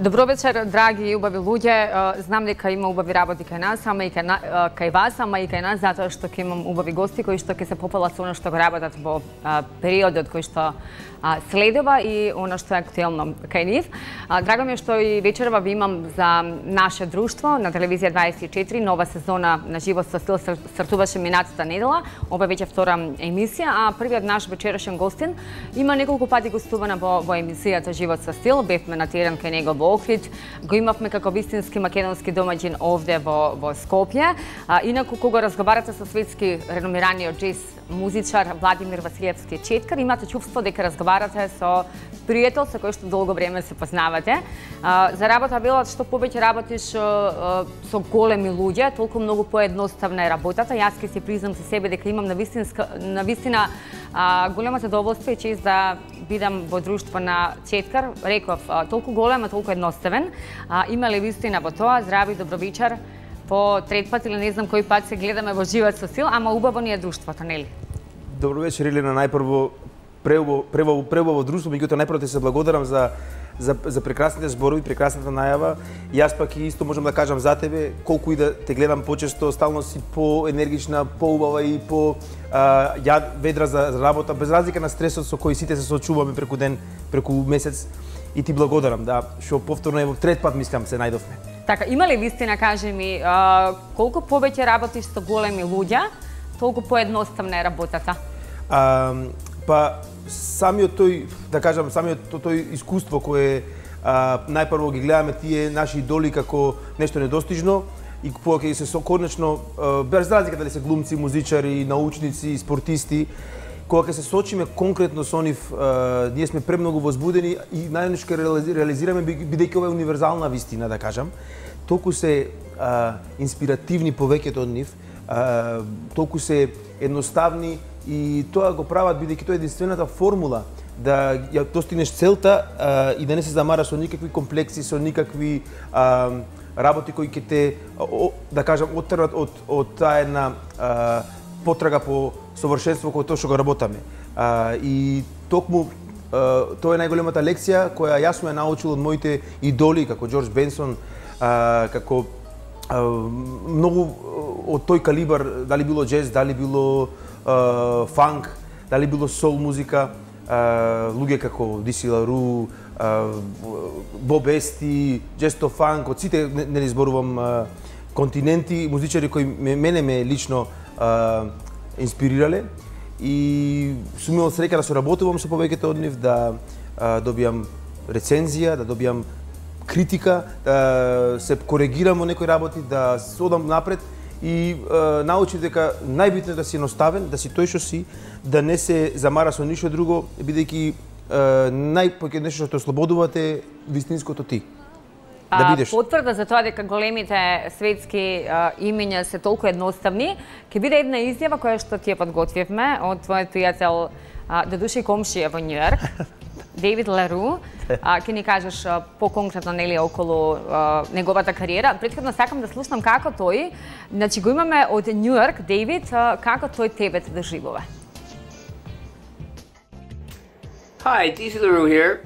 Добро вечер, драги и убави луѓе. Знам дека има убави работи кај нас, ама и кај вас, ама и кај нас, затоа што ќе имам убави гости кои што ќе се попелат со оно што го работат во периодот кој што следува и оно што е актуелно кај нив. Драго ми е што и вечерва ви имам за наше друштво на телевизија 24, нова сезона на Живот со стил стартуваше минатата недела. Ова веќе втора емисија, а првиот наш вечерашен гостин има неколку пати гостувана во емисијата Живот со стил. Бевме на терен кај него во Охрид, го имавме како вистински македонски домаќин овде во Скопје. Инаку кога разговарате со светски реномираниот джез музичар Владимир Василевски Четкар, имате чувство дека разговарате со пријател со кој што долго време се познавате. За работа велат што повеќе работиш со големи луѓе, толку многу поедноставна е работата. Јас ќе си признам за себе дека имам на вистина големо задоволство и чест да бидам во друштво на Четкар. Реков, толку голем, а толку едноставен. Има ли вистина во тоа? Здрави, добро вечер. По трет пат или не знам кој пат се гледаме во Живот со стил, ама убаво ни е друштвото, нели? Добро вечер, Елена. Најпрво преубаво друштво, меѓутоа најпрво ти се благодарам за прекрасните зборови, прекрасната најава. Јас пак и исто можам да кажам за тебе, колку и да те гледам почесто, стално си поенергична, поубава и ведра за работа, без разлика на стресот со кој сите се соочуваме преку ден, преку месец. И ти благодарам, да, што повторно е во трет пат мислам се најдовме. Така, има ли вистина, кажи ми, колку повеќе работиш со големи луѓе, толку поедноставна е работата? Па самиот тој, да кажам, самиот тој искуство кое најпрво ги гледаме тие наши идоли како нешто недостижно и кога ќе се конечно, без разлика дали се глумци, музичари, научници, спортисти, кога ќе се сочиме конкретно со нив, ние сме премногу возбудени и најнаш ќе реализираме бидејќи ова е универзална вистина, да кажам. Толку се инспиративни повеќето од нив, толку се едноставни и тоа го прават бидејќи тоа е единствената формула да ја достигнеш целта и да не се замараш со никакви комплекси, со никакви работи кои ќе те, да кажам, оттерват од таа една потрага по совршенство кој тоа што го работаме. И токму тоа е најголемата лекција која јас ме научил од моите идоли како Џорџ Бенсон, како многу од тој калибар, дали било джез, дали било фанк, дали било сол музика, луѓе како Диси Лару, Боб Ести, Джесто Фанк, од сите не зборувам континенти, музичари кои мене ме лично инспирирале и сум имал среќа да соработувам со повеќето од нив, да добијам рецензија, да добијам критика, да се коригирам во некои работи, да одам напред и научив дека најбитно е да си едноставен, да си тој што си, да не се замара со ништо друго, бидејќи најпоќе нешто што ослободувате вистинското ти. Да бидеш. Потврда за тоа дека големите светски имиња се толку едноставни, ќе биде една изјава која што ти ја подготвивме од твојот пријател, додуше и комшија во Њујорк, Дейвид Лару. Ќе ни кажеш по-конкретно нели околу неговата кариера. Претходно сакам да слушнам како тој, значи го имаме од Њујорк, Дейвид, како тој тебе те доживува. Hi, DC LaRue here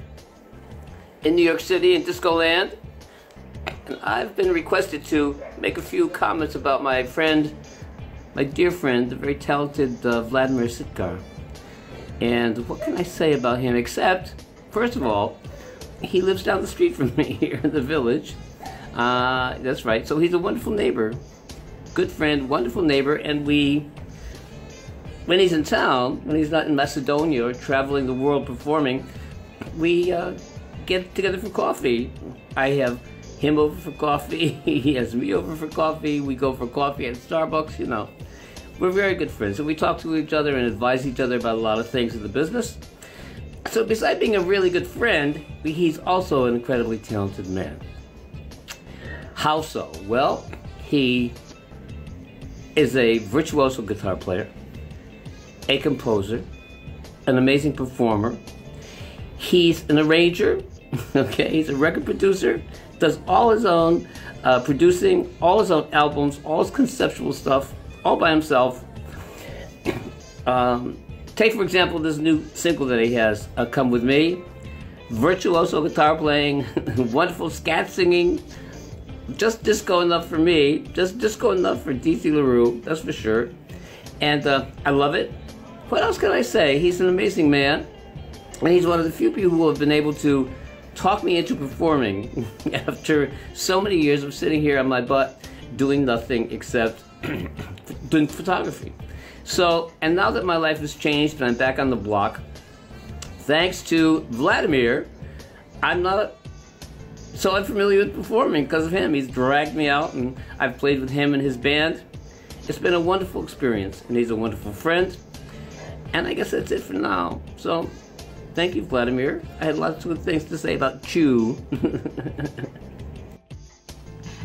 in New York City in Disco Land. And I've been requested to make a few comments about my friend, my dear friend, the very talented Vladimir Sitkar. And what can I say about him except, first of all, he lives down the street from me here in the village. That's right, so he's a wonderful neighbor, good friend, wonderful neighbor, and when he's in town, when he's not in Macedonia or traveling the world performing, we get together for coffee. I have him over for coffee, he has me over for coffee, we go for coffee at Starbucks, you know. We're very good friends, so we talk to each other and advise each other about a lot of things in the business. So besides being a really good friend, he's also an incredibly talented man. How so? Well, he is a virtuoso guitar player, a composer, an amazing performer. He's an arranger, okay? He's a record producer, does all his own producing, all his own albums, all his conceptual stuff, all by himself. Take, for example, this new single that he has, Come With Me. virtuoso guitar playing, wonderful scat singing. Just disco enough for me, just disco enough for DC LaRue, that's for sure. And I love it. What else can I say? He's an amazing man, and he's one of the few people who have been able to talk me into performing after so many years of sitting here on my butt doing nothing except doing photography. So, and now that my life has changed and I'm back on the block, thanks to Vladimir, I'm not so unfamiliar with performing because of him. He's dragged me out and I've played with him and his band. It's been a wonderful experience and he's a wonderful friend. And I guess that's it for now. So, thank you, Vladimir. I had lots of good things to say about Chew.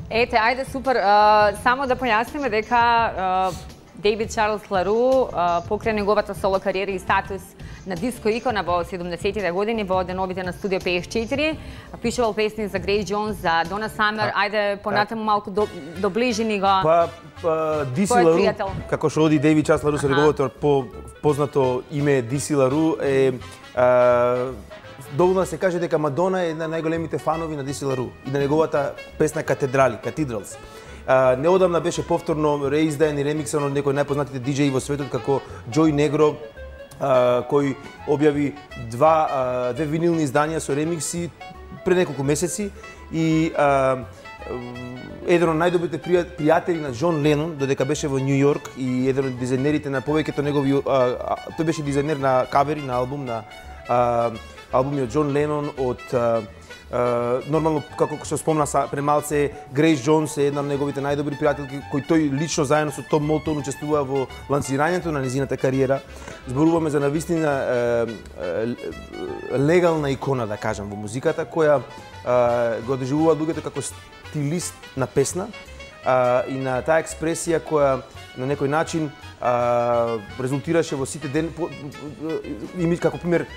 Ете, ајде, супер. Само да појасниме дека Дейвид Чарлс Лару покрај неговата соло кариера и статус на диско икона во 70-тите години во деновите на Студио 54, пишувал песни за Грейс Джонс, за Дона Самер. Ајде понатаму малку доближи ни го. DC Лару, како што оди Дейвид Чарлс Лару, со неговото познато име DC Лару е доволно да се каже дека Мадона е една најголемите фанови на DC Лару и на неговата песна Cathedrals. Неодамна беше повторно реиздаен и ремиксан од некој најпознатите диџеи во светот како Joy Negro, кој објави две винилни изданија со ремикси пред неколку месеци и еден од најдобрите пријатели на Џон Ленон, додека беше во Њу Јорк и еден од дизајнерите на повеќето негови, тој беше дизајнер на кавери на албум, на албуми од Џон Ленон, од нормално, како што спомна премалце, Грейс Джонс е една од неговите најдобри пријателки, кој тој лично заедно со Том Молтон учествува во лансирањето на незината кариера. Зборуваме за навистина легална икона, да кажам, во музиката, која го доживува луѓето како стилист на песна и на таа експресија која на некој начин резултираше во сите ден, како пример,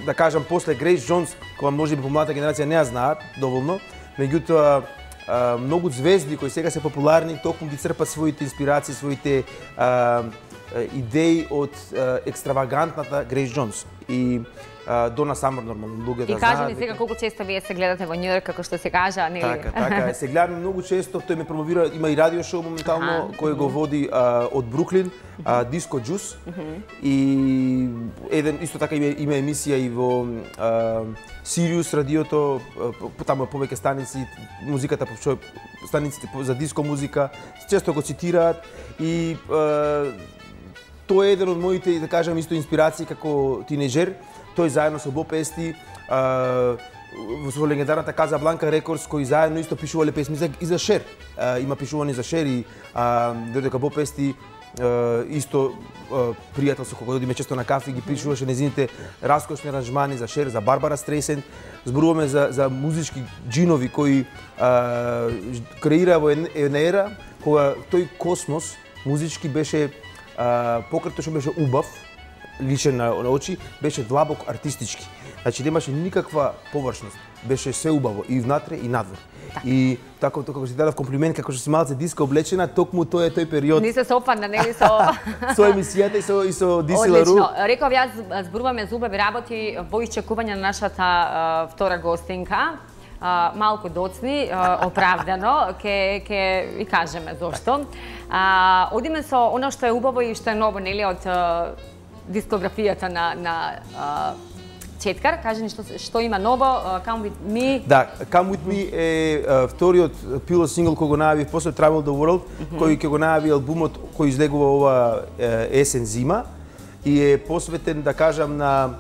да кажам, после Грейс Джонс, која може би помладата генерација не ја знаат доволно, меѓутоа многу звезди кои сега се популарни токму ги црпат своите инспирации, своите идеи од екстравагантната Грейс Джонс и Дона Самер, нормално, луѓето знаат. И кажи ни сега колку често вие се гледате во Њу Јорк, како што се кажа, нели? Така, се гледаме многу често, тој ме промовира, има и радио шоу моментално кој го води од Бруклин, Диско Джус, и еден исто така има емисија и во Сириус радиото, таму повеќе станици, музиката, станиците за диско музика, често го цитираат и тој е еден од моите, да кажам, исто инспирации како тинеџер. Тој заедно со Боб Ести во легендарната Казабланка Рекордс, кои заедно исто пишувале песми и за Шер. Има пишувани за Шер и додека Боб Ести исто пријател со кого одиме често на кафе, ги пишуваше незините раскошни аранжмани за Шер, за Барбара Стрейсенд. Зборуваме за музички джинови кои креира во една ера кога тој космос музички беше покрај што беше убав, личен на очи, беше длабок артистички. Значи немаше никаква површност, беше се убаво и внатре и надвор. И така како си дадов комплимент, како што си малце диско облечена, токму тој е тој период. Не се сопадна, нели со со емисијата и со DC Лару. Одлично. Реков јас зборуваме за убави работи во исчекување на нашата втора гостинка. Малку доцни, оправдано, ке ви кажеме зошто. Одиме со оно што е убаво и што е ново, нели, од дискографијата на Четкар. Кажи ни што има ново, Come With Me. Да, Come With Me е вториот пилот сингл кој го најави после Travel the World, кој ќе го најави албумот кој излегува ова есен зима и е посветен, да кажам, на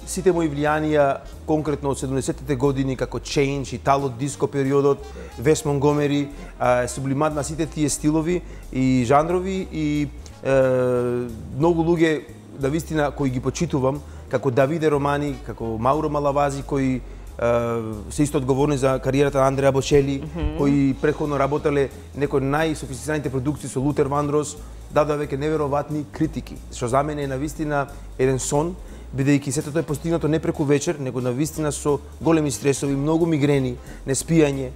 сите мои влијанија конкретно од 70-тите години како Change, Итало диско периодот, Вес Монгомери, сублимат на сите тие стилови и жанрови и многу луѓе да вистина кои ги почитувам, како Давиде Романи, како Мауро Малавази, кои се исто одговорни за кариерата на Андреа Бочели, кои претходно работеле некои најсофистицираните продукции со Лутер Вандрос, дадоа веќе неверојатни критики, што за мене е навистина еден сон, бидејќи сето тоа е постигнато не преку вечер, него навистина со големи стресови, многу мигрени, неспијање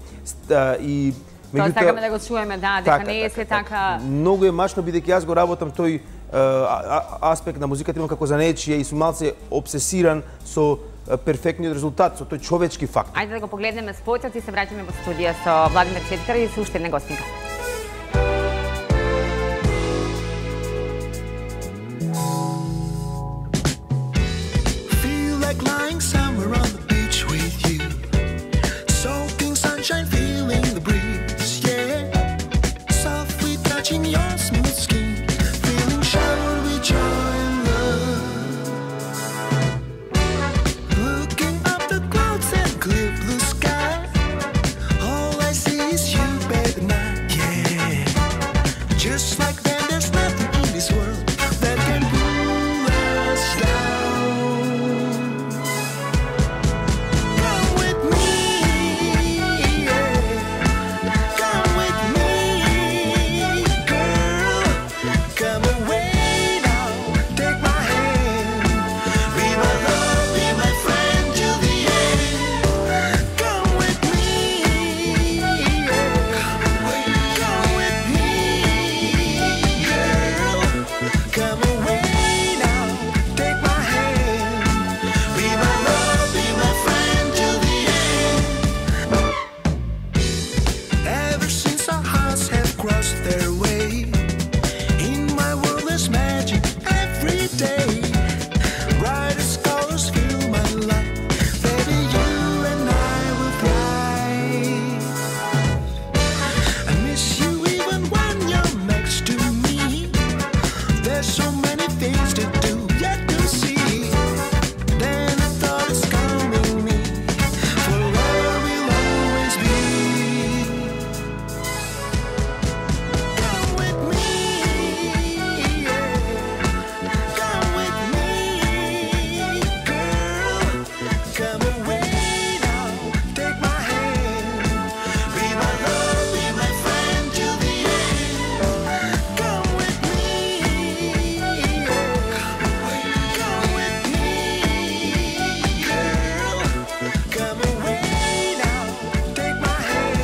и Тоа сакаме да го чуеме, да, дека не е се така. Многу е мачно, бидејќи јас го работам тој аспект на музиката имам како занечие и сум малце обсесиран со перфектниот резултат, со тој човечки фактор. Ајде да го погледнеме спотот и се враќаме во студија со Владимир Четкар и со уште една гостинка. Feel like lying somewhere on the beach with you, soaking sunshine, feeling the breeze, yeah, softly touching your smooth skin, feeling showered with joy and love, looking up the clouds and clear blue sky, all I see is you, baby, now, yeah, just like then there's nothing in this world that can pull us down. Come with me, yeah. Come with me, girl. Come away now, take my hand. Be my love, be my friend till the end. Come with me, yeah. Come with me, girl. Come away now, take my hand. Be my love, be my friend till the end. Ever since our hearts have crossed their way, in my world there's magic every day. Brightest colors fill my life. Baby, you and I will thrive. I miss you even when you're next to me. There's so many things to do, yet to see. Then a thought is calming me. Forever we'll always be. Come with me, yeah. Come with me, girl. Come away now, take my hand. Be my love, be my friend till the end. Come with me, yeah. Come with me, girl. Come away now, take my hand.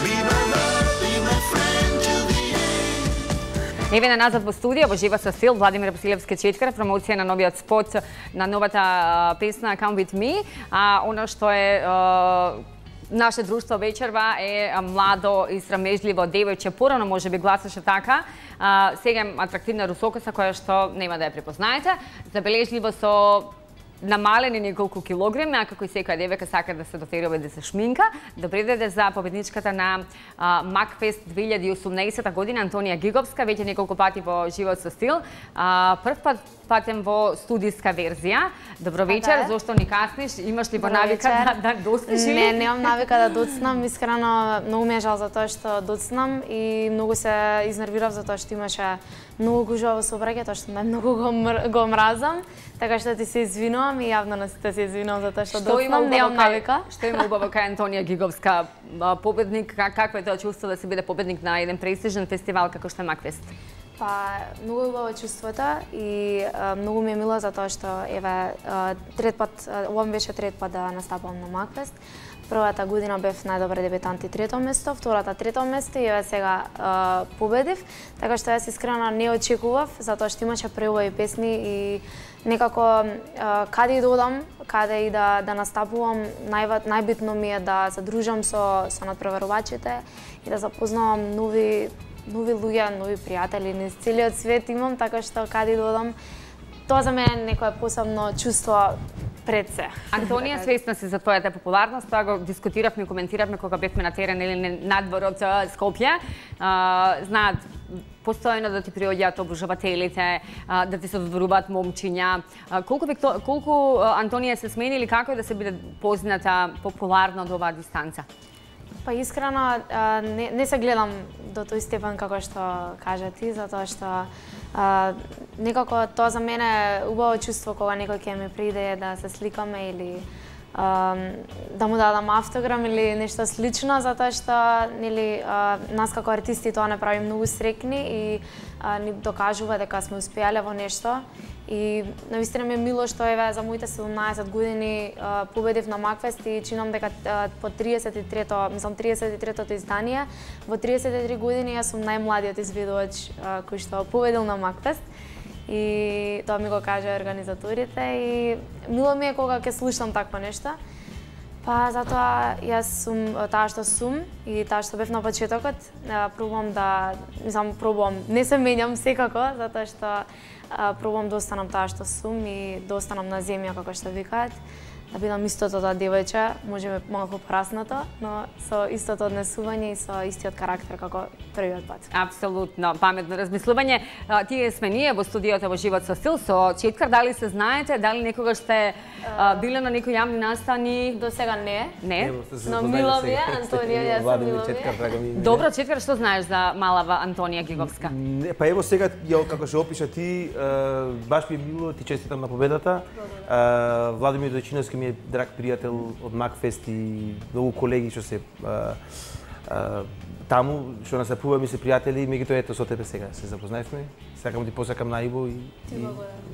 Be my love, be my friend till the end. Еве назад во студија, во жива со стил, Владимир Василевски Четкар, промоција на новиот спот на новата песна Come With Me. Оно што е наше друштво вечерва е младо и срамежливо девојче, порано може би гласаше така. Сега е атрактивна русокоса која што нема да ја препознаете. Забележливо со намалени неколку килограми, а како и секоја девојка сака да се дотерува да се шминка. Добре дојде за победничката на Макфест 2018 година Антонија Гиговска, веќе неколку пати во живот со стил. Прв патем во студиска верзија. Добро вечер, зошто ни касниш? Имаш ли во навика да доцнеш? Не, немам навика да доцнам. Искрено, многу ми е жал за тоа што доцнам и многу се изнервирав за тоа што имаше многу гужва во сообраќај, тоа што многу го мразам. Така што ти се извинувам и јавно на сите се извинувам за тоа што доцнам, немам навика. Што има убаво кај Антонија Гиговска, победник, какво е тоа чувство да се биде победник на еден престижен фестивал како што е Макфест? Па, многу е убаво чувството и многу ми е мило за тоа што еве трет пат, ова ми беше трет пат да настапувам на Макфест. Првата година бев најдобар дебитант и трето место, втората трето место и еве сега победив. Така што јас искрено не очекував, затоа што имаше преубави песни и некако каде и додам, каде и да настапувам, најбитно ми е да се дружам со надпреварувачите и да запознавам нови луѓе, нови пријатели низ целиот свет имам, така што каде и додам, тоа за мене е некое посебно чувство пред се. Антонија, свесна си за твојата популарност, тоа го дискутиравме и коментиравме кога бевме на терен или надворот Скопје. Знаат постојано да ти приоѓаат обожавателите, да ти се додворуваат момчиња. Колку Антонија се смени или како е да се биде позната популарна од оваа дистанца? Па искрено не се гледам до тој степен како што кажа ти, затоа што некако тоа за мене е убаво чувство кога некој ќе ми приде да се сликаме или да му дадам автограм или нешто слично, затоа што нели нас како артисти тоа не прави многу срекни и ни докажува дека сме успеале во нешто. И навистина ми е мило што еве за моите 17 години победив на Макфест и чинам дека по 33-тото издание, во 33 години јас сум најмладиот изведувач кој што победил на Макфест. И тоа ми го кажа организаторите и мило ми е кога ќе слушам такво нешто. Па затоа јас сум таа што сум и таа што бев на почетокот, пробувам не се менјам секако, затоа што пробувам да останам таа што сум и да останам на земја како што викаат, да бидам истото тоа девојче, можеме малку пораснато, но со истото однесување и со истиот карактер како првиот пат. Апсолутно, паметно размислување. Тие сме ние во студиото во Живот со стил со Четкар. Дали се знаете, дали некогаш сте биле на некои јавни настани? До сега не. Не. Но мило ми е, Антонија, јас сум мило ми е. Добро, Четкар, што знаеш за малава Антонија Гиговска? Па ево сега, како што опиша ти, баш ми е мило, ти честитам на победата. Владимир Дојчиновски ми е драг пријател од Макфест и многу колеги што се таму, што настапува, ми се пријатели, меѓутоа ето со тебе сега се запознаевме. Сакам ти посакам најубо и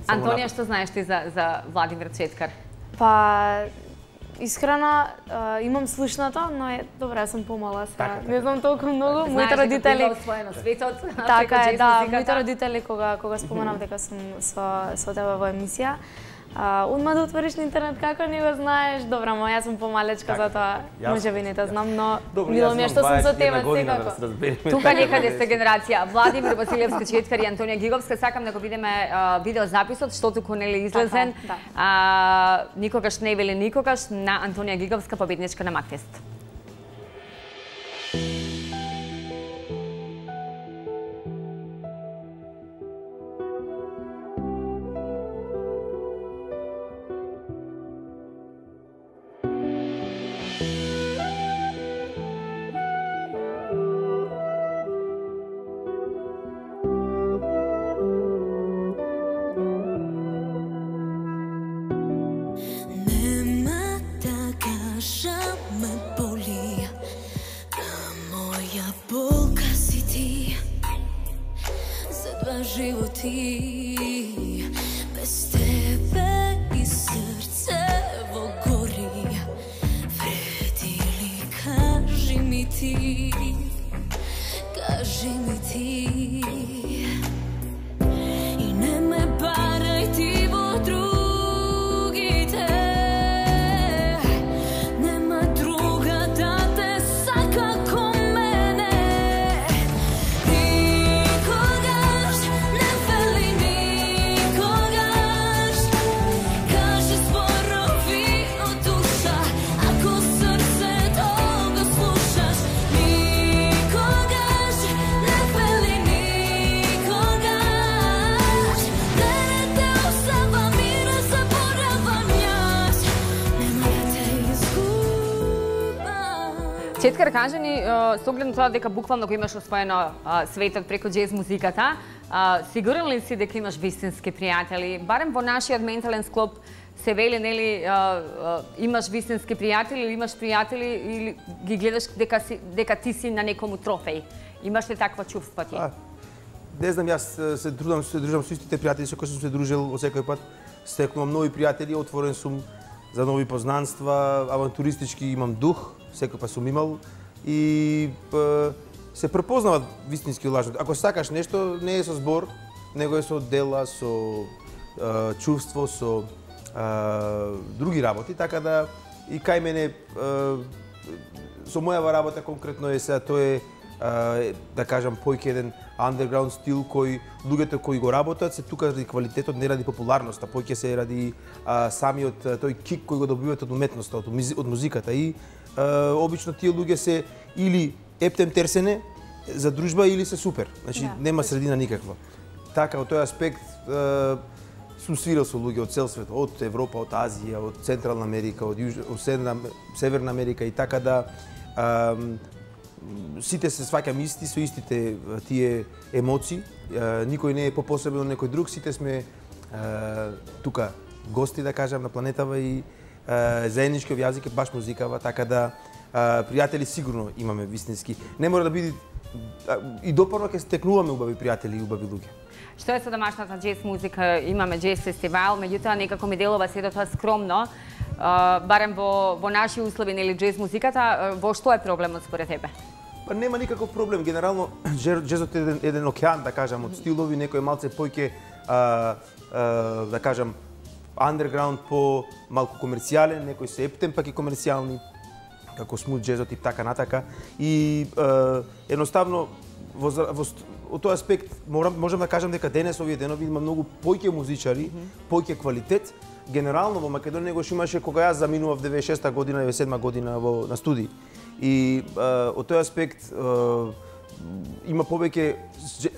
Антонија, што знаеш ти за Владимир Четкар? Па искрено имам слушнато, но добро, јас сум помала сега. Не знам толку многу. Моите родители освоено светот. Така е, да, моите родители кога споменав дека сум со тебе во емисија, одма да отвориш на интернет како не го знаеш. Добра, ма јас сум помалечка, затоа можеби не те знам, но мило ми е што сум со тебе секако. Тука некаде сте генерација Владимир Василевски Четкар и Антонија Гиговска. Сакам да го видиме видеозаписот што туку нели излезен. Никогаш не вели никогаш на Антонија Гиговска, победничка на Макфест. Животи без тебе и срце во гори, вреди ли, кажи ми ти, и не ме барај ти во другите, нема друга да те сака ко мене. Четкар, кажи ни, со оглед на тоа дека буквално го имаш освоено светот преку џез музиката, сигурен ли си дека имаш вистински пријатели? Барем во нашиот ментален склоп се вели, нели, имаш вистински пријатели или имаш пријатели или ги гледаш дека ти си на некому трофеј? Имаш ли таква чувство ти? Не знам, јас се дружам со истите пријатели со кои сум се дружил од секој пат. Стекнувам нови пријатели, отворен сум за нови познанства, авантуристички имам дух, секој па сум имал и се препознават вистински лажот. Ако сакаш нешто, не е со збор, него е со дела, со чувство, со други работи, така да и кај мене со мојава работа конкретно е сега тоа е да кажам појќе еден underground стил кој луѓето кои го работат се тука ради квалитетот, не ради популарноста, појќе се ради самиот тој кик кој го добиваат од уметноста, од музиката и обично тие луѓе се или ептем терсене за дружба или се супер. Значи нема средина никаква. Така од тој аспект сум свирал со луѓе од цел свет, од Европа, од Азија, од Централна Америка, од Северна Америка и така да сите се сваќаме исти со истите тие емоции. Никој не е попосебен од некој друг, сите сме тука гости, да кажам, на планетава и заедничкиот јазик е баш музикава, така да пријатели сигурно имаме вистински. Не мора да биде и допорно ќе стекнуваме убави пријатели и убави луѓе. Што е со домашната џез музика? Имаме џез фестивал, меѓутоа некако ми делува се тоа скромно. Барем во наши услови, нели, џез музиката, во што е проблемот според тебе? Па нема никаков проблем. Генерално, џезот е еден океан, да кажам, од стилови, некој малце поќе, да кажам, underground по малку комерцијален, некој се ептем, пак и комерцијални, како смут џезот и така натака. И едноставно, од тој аспект, можам да кажам дека денес, овие денови, има многу поќе музичари, поќе квалитет. Генерално во Македонија негош имаше кога јас заминував 96-та година, 97-та година на студии. И од тој аспект има повеќе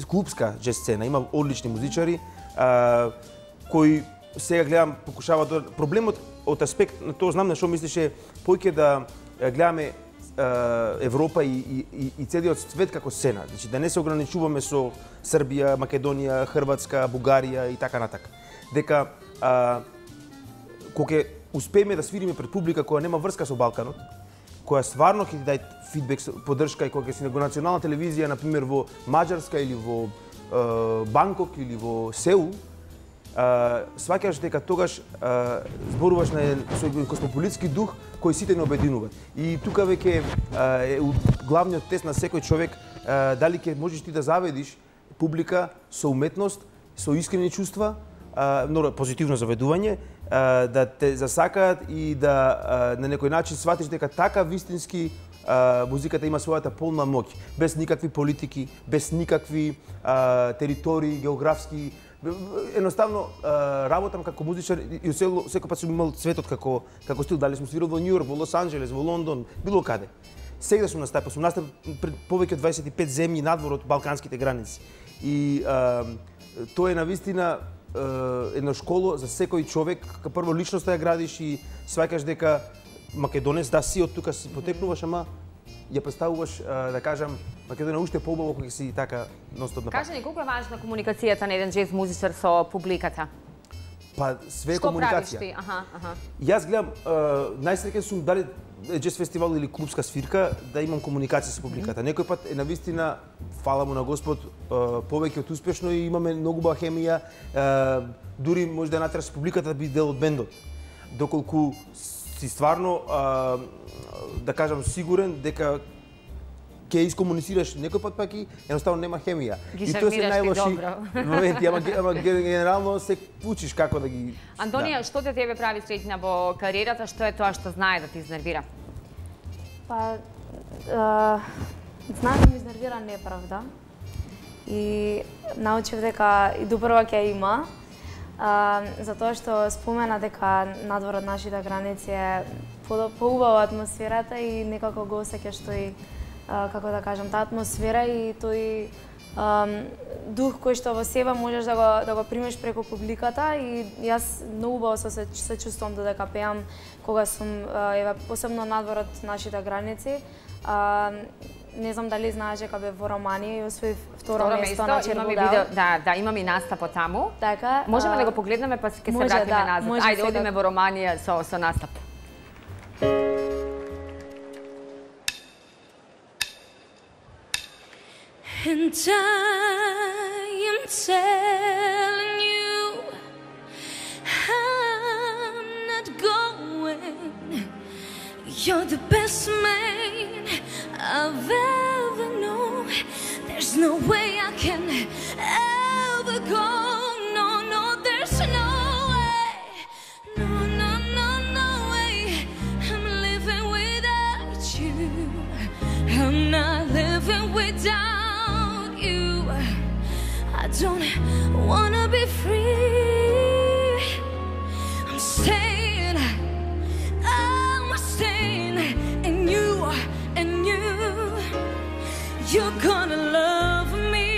клубска џез сцена, има одлични музичари кои сега гледам покушаваат да... Проблемот од аспект на тоа знам на што мислише поќе да гледаме Европа и целиот свет како сцена. Значи да не се ограничуваме со Србија, Македонија, Хрватска, Бугарија и така натака. Дека кога успееме да свириме пред публика која нема врска со Балканот, која стварно ќе ти даде фидбек, поддршка и кога ќе си на национална телевизија, на пример во Маđарска или во Банкок или во Сеул, сваќаш дека тогаш зборуваш на со космополитски дух кој сите не обединува. И тука веќе е главниот тест на секој човек дали ќе можеш ти да заведиш публика со уметност, со искрени чувства, позитивно заведување, да те засакаат и да на некој начин сватиш дека така вистински музиката има својата полна моќ, без никакви политики, без никакви територии, географски. Едноставно работам како музичар и секој пат сум имал светот како стил, дали сум свирал во Њу Јорк, во Лос Анџелес, во Лондон, било каде. Сега сум настапил пред повеќе од 25 земји надвор од балканските граници. И тоа е навистина едно школо за секој човек, кога прво личноста ја градиш и сваќаш дека македонец, да си од тука си потекнуваш, ама ја представуваш, да кажам, Македонија уште поубаво кога си така ностоп на пат. Кажи ни, колку е важна комуникацијата на еден џез музичар со публиката? Па, све е комуникација. Што правиш ти? Јас гледам, најсреќен сум дали џез фестивал или клубска свирка, да имам комуникација со публиката. Некој пат е навистина, фала му на Господ, повеќе од успешно и имаме многу убава хемија, дури може да натераш публиката да биде дел од бендот. Доколку си стварно, да кажам, сигурен дека ќе искомуницираш некој пат пак и едноставно нема хемија. Ги шармираш ти добро. Моменти, ама генерално се учиш како да ги... Антонија, што те тебе прави среќна во кариерата, што е тоа што знае да ти изнервира? Па, знае да ми изнервира неправда. И научив дека и допрва ќе има, затоа што спомена дека надвор од нашите граници е поубава атмосферата и некако го осеќаш тој, како да кажам, таа атмосфера и тој дух кој што во себе можеш да го примеш преку публиката и јас многу убаво се чувствувам додека пеам кога сум посебно надвор од нашите граници. Не знам дали знаеш дека бев во Романија и освоив второ место на Черводел. Да, имам и настапот таму. Така. Можеме да го погледнеме па ќе се вратиме назад. Ајде, одиме во Романија со настап. And I am telling you, I'm not going. You're the best man I've ever known. There's no way I can ever go. No, no, there's no way. No, no, no, no way. I'm living without you. I'm not living without. I don't wanna be free. I'm staying in you, and you're gonna love me.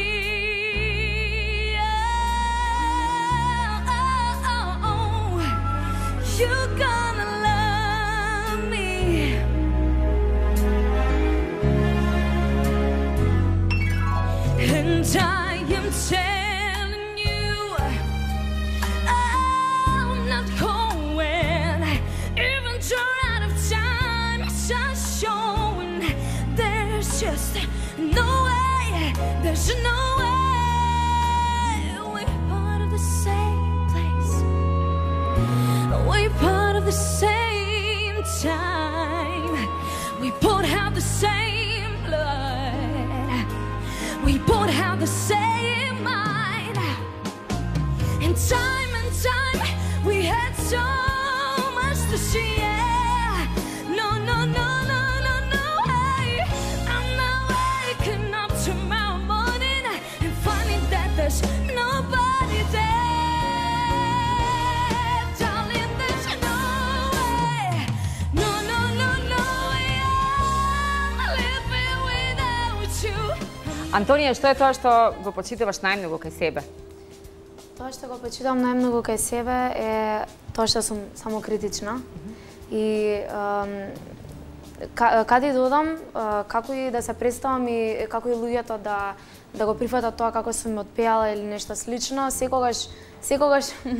Oh, you're gonna love me. And I am telling you, I'm not going. there's no way. We're part of the same place. We're part of the same time. We both have the same blood. We both have the same mind. And time we had so much to share. No, no, no, no, no, no way. I'm not waking up tomorrow morning and finding that there's nobody there. Darling, there's no way. No, no, no, no way. I'm living without you. Антонија, што е тоа што го почитуваш најмногу кај себе? Тоа што го почитам најмногу кај себе е тоа што сум самокритична и каде додам, како и да се представам и како и луѓето да го прифатат тоа како сум отпеала или нешто слично, секогаш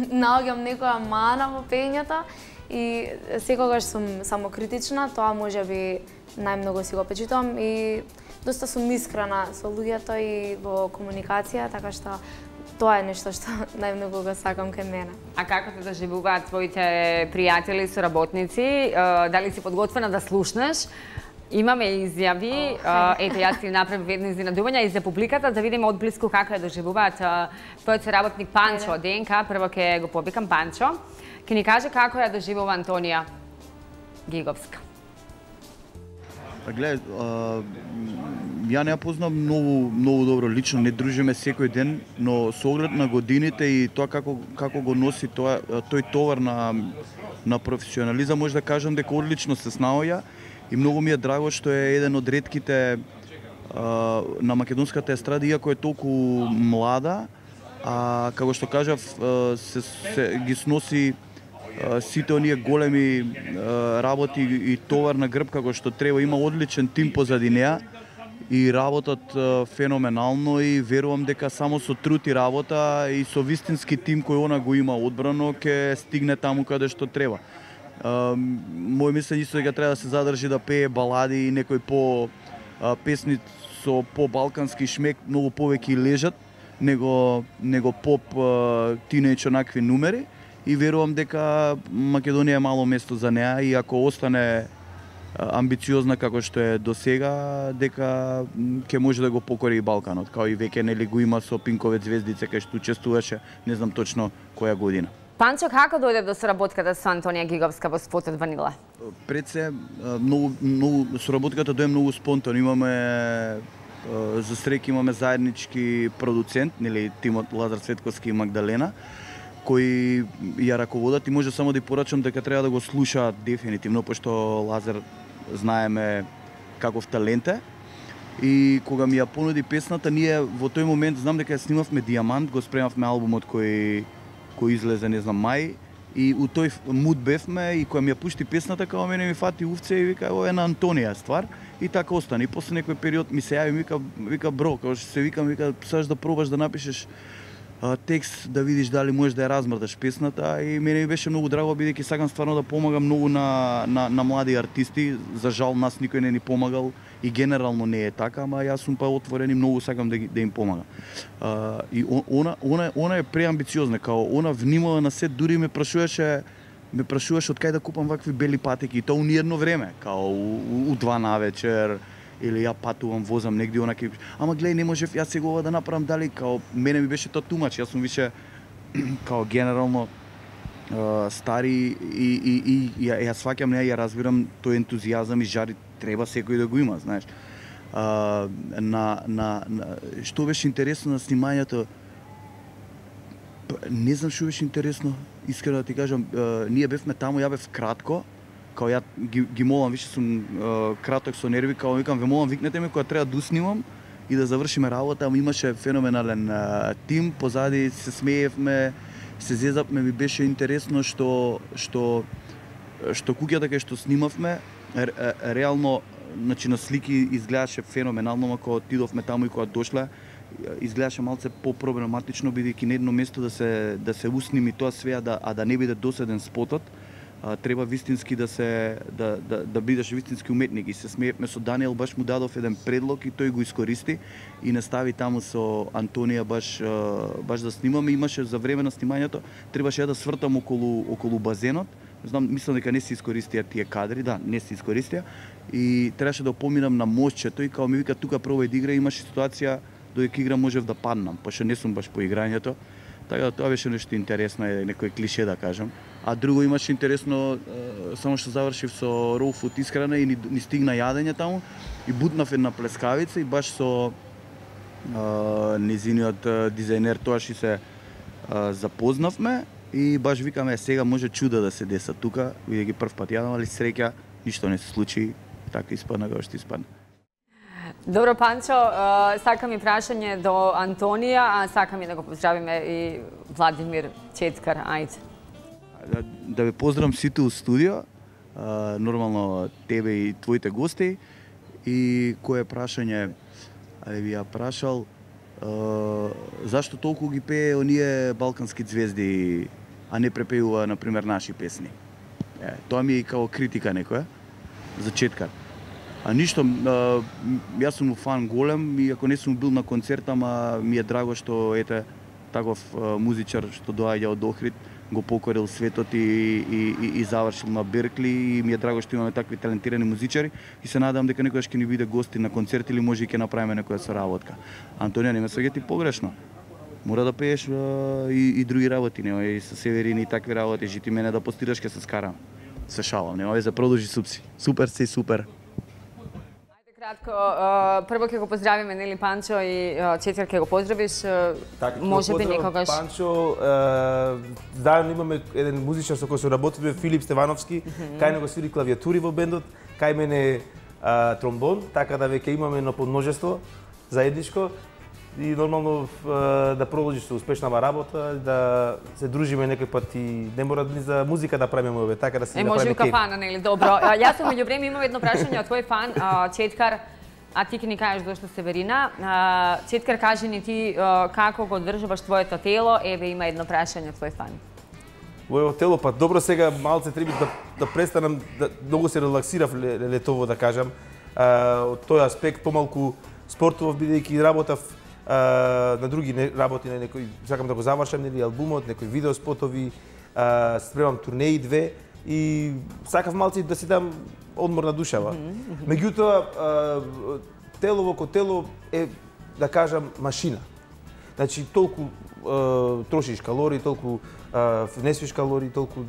наоѓам некоја мана во пењето и секогаш сум самокритична, тоа можеби најмногу си го почитам и доста сум искрена со луѓето и во комуникација, така што тоа е нешто што најмногу го сакам кај мене. А како те доживуваат твоите пријатели и соработници? Дали си подготвена да слушнеш? Имаме изјави, ете јас ти направив едно изненадување и за публиката да видиме одблиску како ја доживуваат твојот соработник Панчо од ДНК. Прво ќе го повикам Панчо. Ќе ни каже како ја доживува Антонија Гиговска. Гледај, ја не ја познам многу добро лично, не дружиме секој ден, но со оглед на годините и тоа како го носи тој товар на професионализам, може да кажам дека одлично се снаоѓа и многу ми е драго што е еден од ретките на македонската естрада, иако е толку млада, а како што кажав, ги сноси сите оние големи работи и товар на грб како што треба. Има одличен тим позади неа и работат феноменално и верувам дека само со труд и работа и со вистински тим кој она го има одбрано ќе стигне таму каде што треба. Мој мислење исто дека треба да се задржи да пее балади и некои песни со по-балкански шмек, многу повеќе лежат него поп тинејдж онакви numери. И верувам дека Македонија е мало место за неа и ако остане амбициозна како што е до сега, дека ќе може да го покори и Балканот, као и веќе нели го има со Пинковец Звездице кај што учествуваше, не знам точно која година. Панчо, како дојде до соработката со Антонија Гиговска во спотот Ванила? Пред се многу соработката дојде многу спонтано. Имаме за среќа имаме заеднички продуцент, нели тимот Лазар Цветковски и Магдалена, кои ја раководат и може само да порачам дека треба да го слушаат дефинитивно, пошто Лазар знаеме каков талент е. И кога ми ја понуди песната, ние во тој момент знам дека ја снимавме Диамант, го спремавме албумот кој излезе, не знам, мај, и у тој муд бевме и кога ми ја пушти песната, као мене ми фати увце и вика, ова е на Антонија ствар, и така остане. И после некој период ми се јави, вика бро, као што се викам, вика, сакаш да пробаш да напишеш текст, да видиш дали можеш да ја размрдаш песната, и мене ми беше многу драго, бидејќи сакам стварно да помагам многу на млади артисти. За жал нас никој не ни помагал и генерално не е така, ама јас сум па отворен и многу сакам да им помагам. И она е преамбициозна, као она внимава на се, дури ме прашуваше од кај да купам вакви бели патеки, и тоа у ниедно време, као у 2 навечер, или ја патувам, возам негде, онаки, ама гледај, не можев јас сега ова да направам, дали, као, мене ми беше тоа тумач, јас сум више, као, генерално стари и ја сваќам неа, ја разбирам тој ентузијазам и жари, треба секој да го има, знаеш. Што беше интересно на снимањето, не знам што беше интересно, искрено да ти кажам, ние бевме таму, ја бев кратко, као ја ги молам, више сум краток со нерви, као викам, ве молам, викнете ме кога треба да уснимам и да завршиме работа, ама имаше феноменален тим, позади се смеевме, се зезапме, ми беше интересно што куќата кај што снимавме, реално, значи на слики изгледаше феноменално, ама кога отидовме таму и кога дошле, изгледаше малце по-проблематично, бидејќи на едно место да се усними тоа све, а да не биде доседен спотот. треба вистински да бидеш вистински уметник. И се смеевме со Даниел, баш му дадов еден предлог и тој го искористи и настави таму со Антонија баш да снимаме. Имаше за време на снимањето, требаше да свртам околу базенот. Знам, мислам дека не се искористија тие кадри, да, не се искористија. И требаше да поминам на мостчето и као ми вика тука пробај да игра, имаше ситуација додека игра можев да паднам, пошто не сум баш по играњето. Така да тоа беше нешто интересно, некој клише да кажам. А друго имаше интересно, само што завршив со Raw Food исхрана и ни стигна јадење таму и бутнав една плескавица и баш со незиниот дизајнер тоаш и се запознавме и баш викаме сега може чуда да се деса тука, бидејќи прв пат јадам, али среќа ништо не се случи, така испадна како што испадна. Добро, Панчо, сакам и прашање до Антонија, а сакам и да го поздравиме и Владимир Четкар, ајде. Да ве поздравам сите у студио, нормално тебе и твоите гости. И кое прашање, ви ја прашал, зашто толку ги пее оние балкански звезди, а не препеува, например, наши песни? Тоа ми е као критика некоја за Четкар. А ништо, јас сум фан голем и ако не сум бил на концерт, ама ми е драго што ете таков музичар што доаѓа од Охрид, го покорил светот и завршил на Беркли и ми е драго што имаме такви талентирани музичари и се надевам дека некојаш ќе ни биде гости на концерт или може и ќе направиме некоја соработка. Антонија, не ме сваѓати погрешно. Мора да пееш и други работи, нема и со Северини и такви работи, жити мене да постираш ќе се скарам. Се шалам, нема везе, продолжи супси. Супер си, супер. Кратко, прво ќе го поздравиме, нели, Панчо и Четкар ќе го поздравиш, може би некогаш. Панчо, заедно имаме еден музичар со кој се работиме, Филип Стевановски, кај него свири клавиатури во бендот, кај мене тромбон, така да веќе имаме едно подмножество заедничко и нормално да продолжиш со успешнава работа, да се дружиме некој пат и не мора ни за музика да правиме, така да се направиме може и кеф. кафана, нели, добро. Јас сум меѓувреме имам едно прашање од твој фан, Четкар, а ти ќе ни кажеш дошто Северина. Четкар, кажи ни ти како го одржуваш твоето тело, еве има едно прашање од твој фан. Моето тело, па добро сега малце треба да престанам, многу се релаксирав летово да кажам. Од тој аспект помалку спортував бидејќи работав на други работи, на некои сакам да го завршам, нели, албумот, некои видеоспотови, спремам турнеи 2 и сакав малце да си дам одмор на душава. Меѓутоа, тело во тело е, да кажам, машина. Значи, толку трошиш калории, толку внесуваш калории, толку,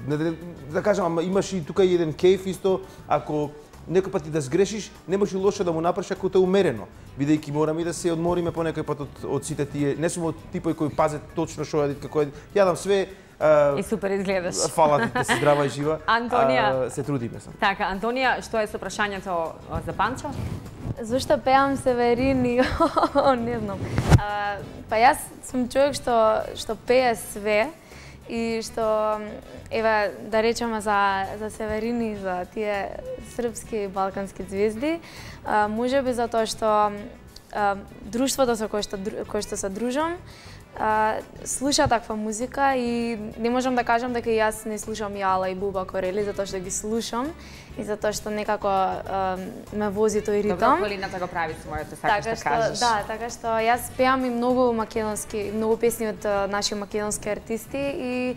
да кажам, ама имаш и тука еден кејф исто, ако некој пат и да сгрешиш, не може лошо да му направиш ако те умерено, бидејќи мораме и да се одмориме по некој пат од сите тие. Не сум од типој кој пазе точно што јадат, како јадам све. И супер изгледаш. Фала ти, да си здрава и жива. Антонија, се трудиме сам. Така, Антонија, што е со прашањето за Панчо? Зошто пеам Северини? Не знам. Па јас сум човек што пее све и што, еве, да речеме за Северини, за тие српски и балкански звезди, можеби затоа што друштвото со кој што се дружам, слуша таква музика и не можам да кажам дека јас не слушам Јала и Буба Корели, затоа што ги слушам и затоа што некако ме вози тој ритам. Добро, Колината го прави своето, сакаш да кажеш. Да, така што јас пеам и многу македонски, многу песни од наши македонски артисти и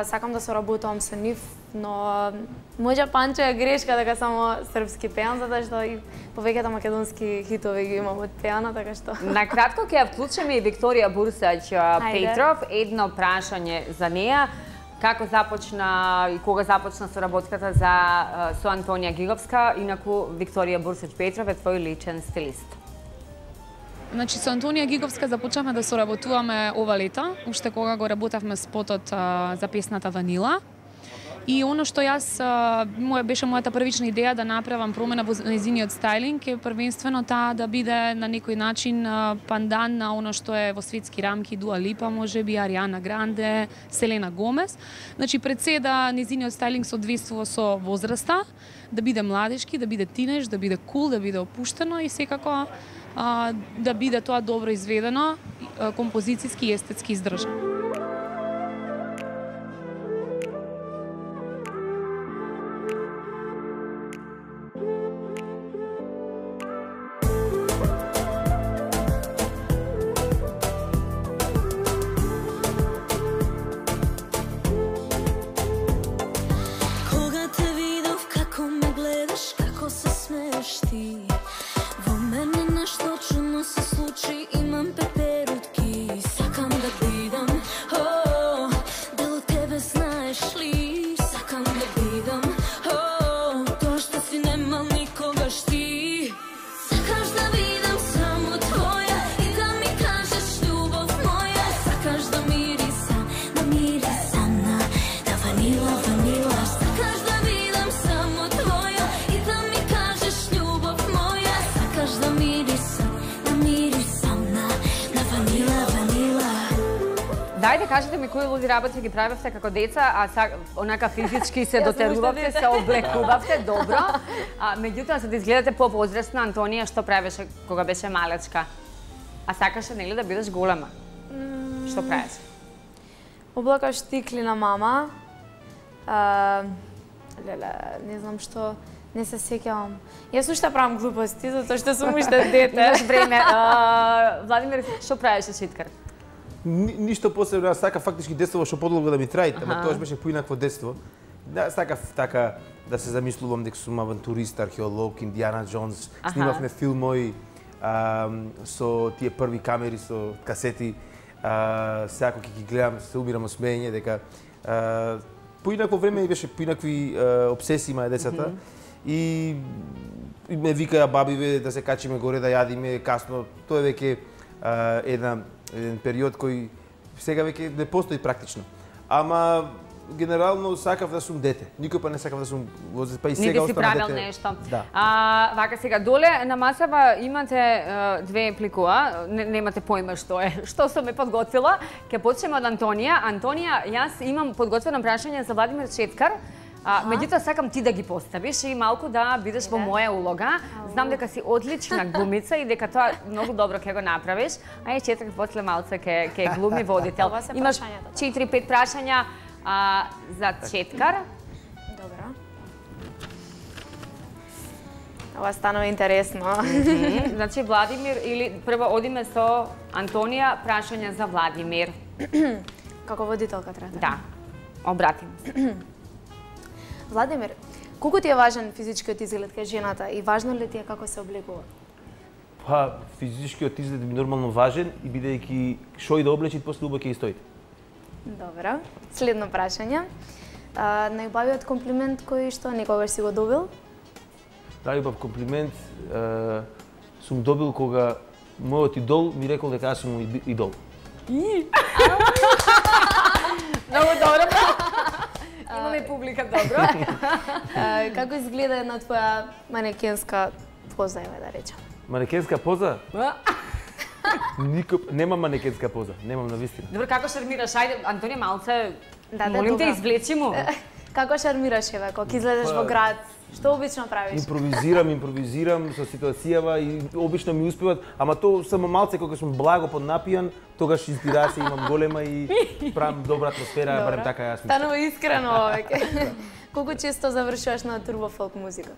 сакам да соработувам со нив, но може Панчо е грешка дека само српски пеам, затоа што и повеќето македонски хитови ги имам од пеана, така што... На кратко ќе ја вклучиме и Викторија Бурсач Петров, едно прашање за неа. Како започна и кога започна соработката со Антонија Гиговска, инаку Викторија Бурсач Петров е твој личен стилист? Значи, со Антонија Гиговска започнавме да соработуваме ова лето, уште кога го работевме спотот за песната Ванила. И оно што јас беше мојата првична идеја да направам промена во нејзиниот стајлинг е првенствено таа да биде на некој начин пандан на оно што е во светски рамки Дуа Липа, можеби Ариана Гранде, Селена Гомес. Значи пред се да нејзиниот стајлинг соодветствува со возраста, да биде младешки, да биде тинеж, да биде кул, да биде опуштено и секако да биде тоа добро изведено, композицијски и естетски издржано. Дајте, кажете ми кои луди работи ги правевте како деца, а онака физички се дотерувавте, се облекувавте добро. Меѓутоа, за да изгледате по-возрастна, Антонија што правеше кога беше малечка? А сакаше, нели, да бидеш голема? Што правеше? Облакаш стикли на мама. Не знам што, не се сеќавам. Јас уште правам глупости, затоа што сум уште дете. Имаш време. Владимир, што правеше Читкар? Ништо посебно, јас сакав фактички детство што подолго да ми траи, ама тоа беше поинакво детство. Да, сакав така да се замислувам дека сум авантурист, археолог, Индиана Джонс, снимавме филмови со тие први камери со касети. Секако ќе ги гледам, се умирам од смеење дека поинакво време беше поинакви обсесии имаа децата и ме викаа бабиве да се качиме горе да јадиме касно. Тоа е веќе еден период кој сега веќе не постои практично. Ама генерално сакав да сум дете. Никој па не сакав да сум па и сега останав дете. Не си правил нешто. Да. Вака сега доле на масава имате две пликуа, немате поима што е. Што сум ме подготвила? Ќе почнеме од Антонија. Антонија, јас имам подготвено прашање за Владимир Четкар. Меѓутоа сакам ти да ги поставиш и малку да бидеш во моја улога. Знам дека си одлична глумица и дека тоа многу добро ќе го направиш. А е Четкар после малце ќе глуми водител. Имаш 4-5 прашања за Четкар. Добро. Ова станува интересно. Значи Владимир или прво одиме со Антонија, прашање за Владимир. Како водителка треба. Да. Обратим. Владимир, колку ти е важен физичкиот изглед кај жената и важно ли ти е како се облегува? Па, физичкиот изглед ми нормално важен и бидејќи шо и да облечи, после убаво ќе и стоите. Добро. Следно прашање. Најубавиот комплимент кој што некогаш си го добил? Најубав комплимент сум добил кога мојот идол ми рекол дека јас сум идол. Многу добро. Имаме публика, добро. Како изгледа една твоја манекенска поза, еве да речам? Манекенска поза? Немам манекенска поза, немам навистина. Добро, како шармираш? Ајде, Антонија, малце, Да, молим те, добро. извлечи му. Како шармираш, еве, кога излезеш во град? Што обично правиш? Импровизирам со ситуацијава и обично ми успеват, ама тоа само малце кога сум благо поднапијан, тогаш инспирација имам голема и правам добра атмосфера, барем така јас мислам. Станува искрено веќе. Колку често завршуваш на турбофолк музика?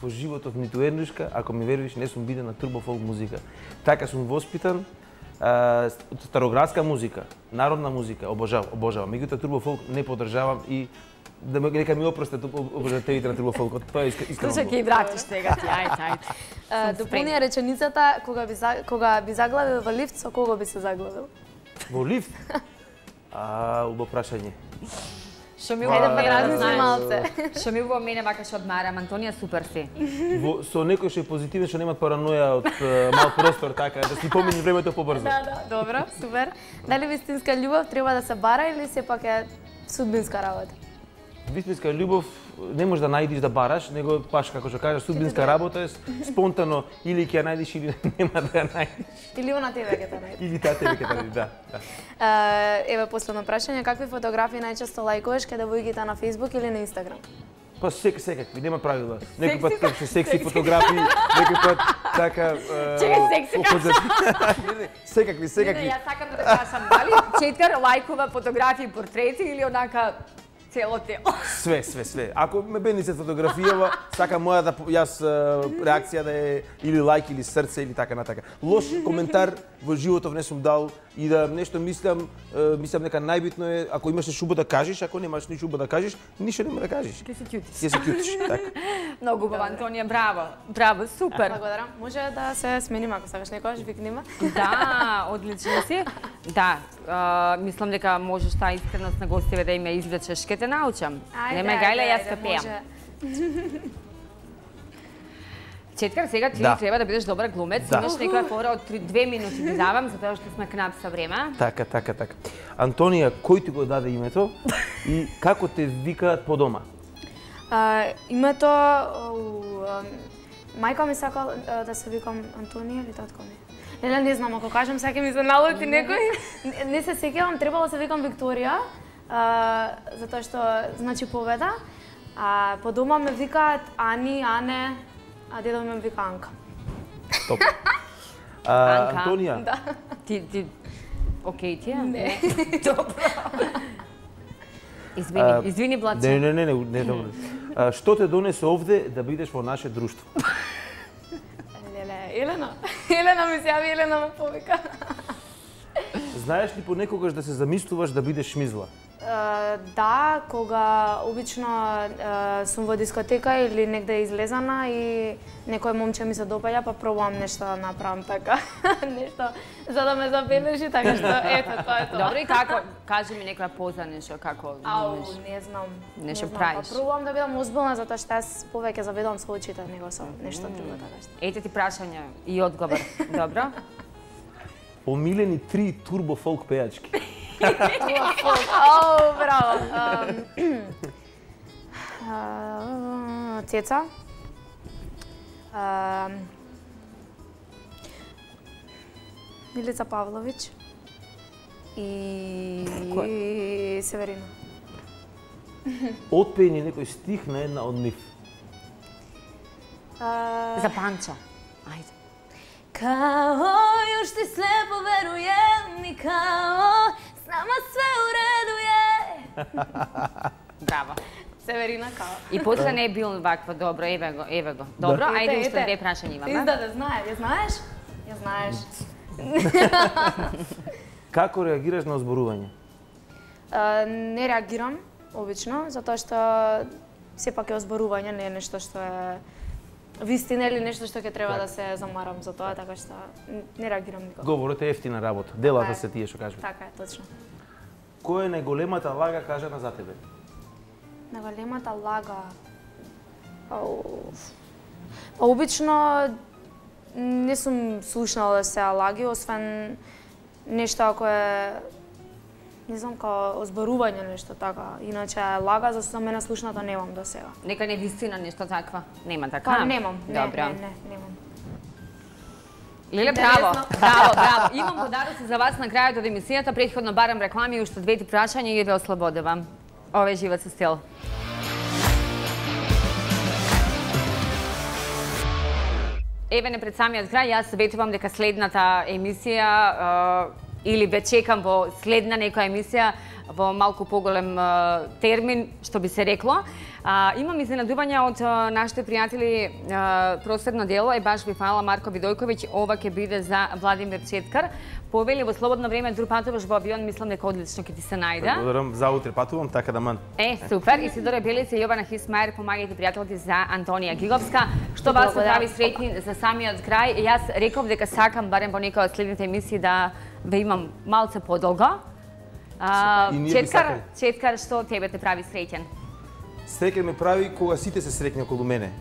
Во животот ниту еднушка, ако ми веруваш, не сум биден на турбофолк музика. Така сум воспитан, староградска музика, народна музика, обожавам. Меѓутоа турбофолк не поддржавам и нека ми опростат обожателите на турбофолкот. Тоа е искрено. Слушај, ќе и вратиш сега ти, ајде. Дополнија реченицата, кога би заглавил во лифт, со кого би се заглавил? Во лифт? Убаво прашање. Што ми Хајде па убаво размисли малце. Што ми убаво мене вака што одмарам, Антонија, супер си. Со некој што е позитивен, што немат параноја од мал простор, така, да си помини времето побрзо. Да, добро, супер. Дали вистинска љубов треба да се бара или сепак е судбинска работа? Вистинска љубов не можеш да најдиш да бараш, него баш како што кажеш, судбинска работа е спонтано или ќе ја најдиш или нема да ја најдиш. Или она тебе ќе те најде? Или таа тебе ќе те најде, да. Еве последно прашање, какви фотографии најчесто лајкуваш каде девојките на Facebook или на Instagram? Па секакви, нема правила. Некој пат кажеш секси фотографии, некој пат така секакви. Јас сакам да те прашам, дали Четкар лајкува фотографии, портрети или онака цело тело? Све. Ако ме бенисет фотографијава, сакам моја јас реакција да е или лајк или срце или така натака. Лош коментар во животов не сум дал и да нешто мислам дека најбитно е ако имаш шуба да кажеш, ако немаш ни шуба да кажеш, ништо нема да кажеш. Ќе се кјутиш. Ќе се кјутиш, така. Многу убаво, Антонија, браво, супер. Благодарам. Може да се смениме ако сакаш некогаш викниме. Да, одлично си. Да, мислам дека можеш таа искреност на гостиве да им ја извлечеш, ке те научам. Нема гајле, јас ке пеам. Четкар, сега ти треба да бидеш добар глумец. Имаш некоја фора од 2 минути ти давам, затоа што сме кнап со време. Така. Антонија, кој ти го даде името и како те викаат по дома? Името, мајка ми сака да се викам Антонија или татко ми? Не знам, ако кажам сега ќе ми се налути некој. Не се сеќавам, требало се викам Викторија, затоа што значи победа. А по дома ме викаат Ани, Ане, а дедо ме вика Анка. Топ. Анка. Антонија. Да. Ти окей ти е? Не. Добро. Извини Блаче. Не, добро. Што те донесе овде да бидеш во наше друштво? Елена. Елена ми се јави, Елена ме повика. Знаеш ли понекогаш да се замислуваш да бидеш шмизла? Да, кога обично сум во дискотека или негде излезана и некој момче ми се допаѓа, па пробувам нешто да направам така, нешто за да ме забележи, така што ето тоа е тоа. Добро, и како? Кажи ми некоја поза нешто, како Не знам. Нешто Па правиш? пробувам да бидам озбилна, затоа што јас повеќе заведувам со очите него со нешто друго така што. Ете ти прашање и одговор. Добро? Омилени 3 турбо фолк пејачки. Браво. Цеца. Милица Павлович и Северина. Отпеј ни некој стих на една од нив. За Панчо. Ајде. Као још ти слепо веруjem и као с нама све у реду е. Браво. Северина Као. И после не е бил вакво, добро, еве го. Добро, ајде уште две прашања имаме. Издаде, знае, ја знаеш? Ја знаеш. Како реагираш на озборување? Не реагирам, обично, затоа што сепак е озборување, не е нешто што е вистина или нешто што ќе треба да се замарам за тоа, така што не реагирам никога. Говорот е ефтина работа. Делата се тие што кажуваш. Така е, точно. Која е најголемата лага кажана за тебе? Најголемата лага. Па обично не сум слушнала се лаги, освен нешто ако е не знам, као озборување нешто така. Иначе лага за мене слушнато немам до сега. Нека не вистина нешто таква. Нема така? Па немам. Добро. Немам. Леле, браво. Браво. Имам подароци за вас на крајот од емисијата. Претходно барам реклами и уште двете прашања и ве ослободувам. Ова е Живот со стил. Еве не пред самиот крај, јас советувам дека следната емисија или ве чекам во следна некоја емисија во малку поголем термин, што би се рекло. Имам изненадување од нашите пријатели. Просветно дело е баш ви фала Марко Видојковиќ. Ова ќе биде за Владимир Четкар. Повели во слободно време дур патуваш во авион, мислам дека одлично ќе ти се најде. Благодарам, за утре патувам, така да ман. Супер. Исидора Белица и Јована Хисмајер, помагајте пријателите за Антонија Гиговска. Што вас се прави среќни за самиот крај. Јас реков дека сакам барем во некоја од следните емисии да ве имам малце подолго. Четкар, што тебе те прави среќен? Среќен ме прави кога сите се среќни околу мене.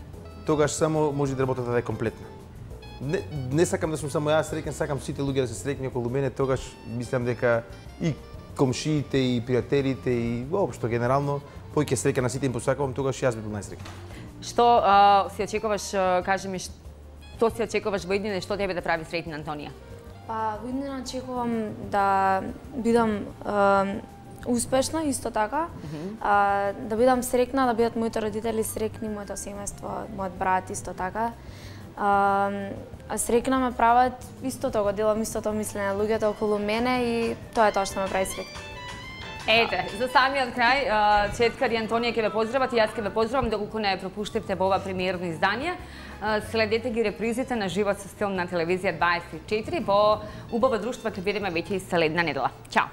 Тогаш само може да работата да е комплетна. Не сакам да сум само јас среќен, сакам сите луѓе да се среќни околу мене, тогаш мислам дека и комшиите, и пријателите, и воопшто генерално, поќе среќа на сите им посакувам, тогаш јас би бил најсреќен. Што си очекуваш, кажи ми, што си очекуваш во иднина и што тебе да прави среќна Антонија? Па, во иднина очекувам да бидам успешна, исто така, да бидам среќна, да бидат моите родители среќни, моето семејство, мојот брат исто така. А среќна ме прават истото, го делам истото мислење луѓето околу мене и тоа е тоа што ме прави среќна. Ете, за самиот крај, Четкар и Антонија ќе ве поздрават и јас ќе ве поздравам доколку не пропуштивте во ова премиерно издание. Следете ги репризите на Живот со стил на телевизија 24. Во убава друштва ќе бидеме веќе и следна недела. Чао!